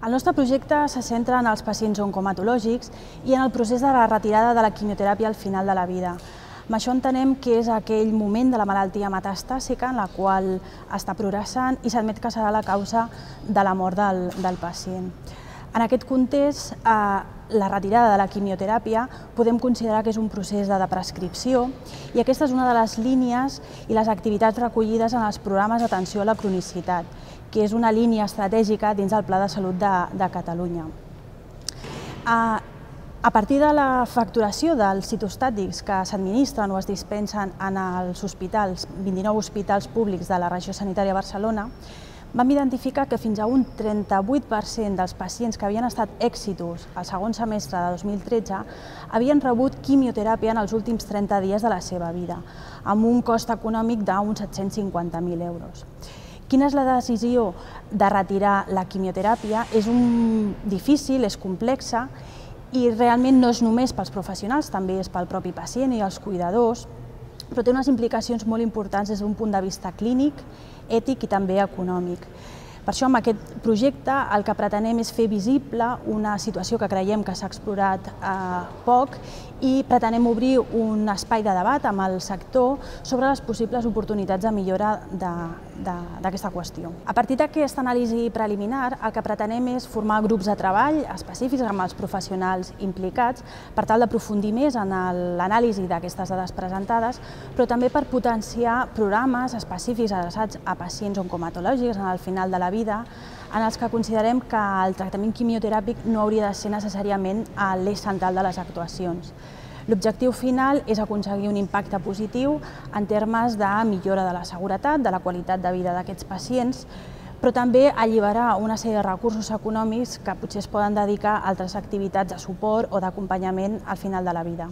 El nostre projecte se centra en els pacients oncomatològics i en el procés de la retirada de la quimioteràpia al final de la vida. Amb això entenem que és aquell moment de la malaltia metastàsica en la qual està progressant i s'admet que serà la causa de la mort del pacient. En aquest context, la retirada de la quimioteràpia podem considerar que és un procés de prescripció i aquesta és una de les línies i les activitats recollides en els programes d'atenció a la cronicitat, que és una línia estratègica dins del Pla de Salut de Catalunya. A partir de la facturació dels citostàtics que s'administren o es dispensen en els hospitals, 29 hospitals públics de la regió sanitària de Barcelona, vam identificar que fins a un 38% dels pacients que havien estat èxitus al segon semestre de 2013 havien rebut quimioteràpia en els últims 30 dies de la seva vida, amb un cost econòmic d'uns 750.000 euros. Quina és la decisió de retirar la quimioteràpia? És difícil, és complexa i realment no és només pels professionals, també és pel propi pacient i els cuidadors, però té unes implicacions molt importants des d'un punt de vista clínic, ètic i també econòmic. Per això, amb aquest projecte, el que pretenem és fer visible una situació que creiem que s'ha explorat poc i pretenem obrir un espai de debat amb el sector sobre les possibles oportunitats de millora d'aquesta qüestió. A partir d'aquesta anàlisi preliminar, el que pretenem és formar grups de treball específics amb els professionals implicats per tal d'aprofundir més en l'anàlisi d'aquestes dades presentades, però també per potenciar programes específics adreçats a pacients oncomatològics en el final de la vida, en els que considerem que el tractament quimioteràpic no hauria de ser necessàriament l'eix central de les actuacions. L'objectiu final és aconseguir un impacte positiu en termes de millora de la seguretat, de la qualitat de vida d'aquests pacients, però també alliberar una sèrie de recursos econòmics que potser es poden dedicar a altres activitats de suport o d'acompanyament al final de la vida.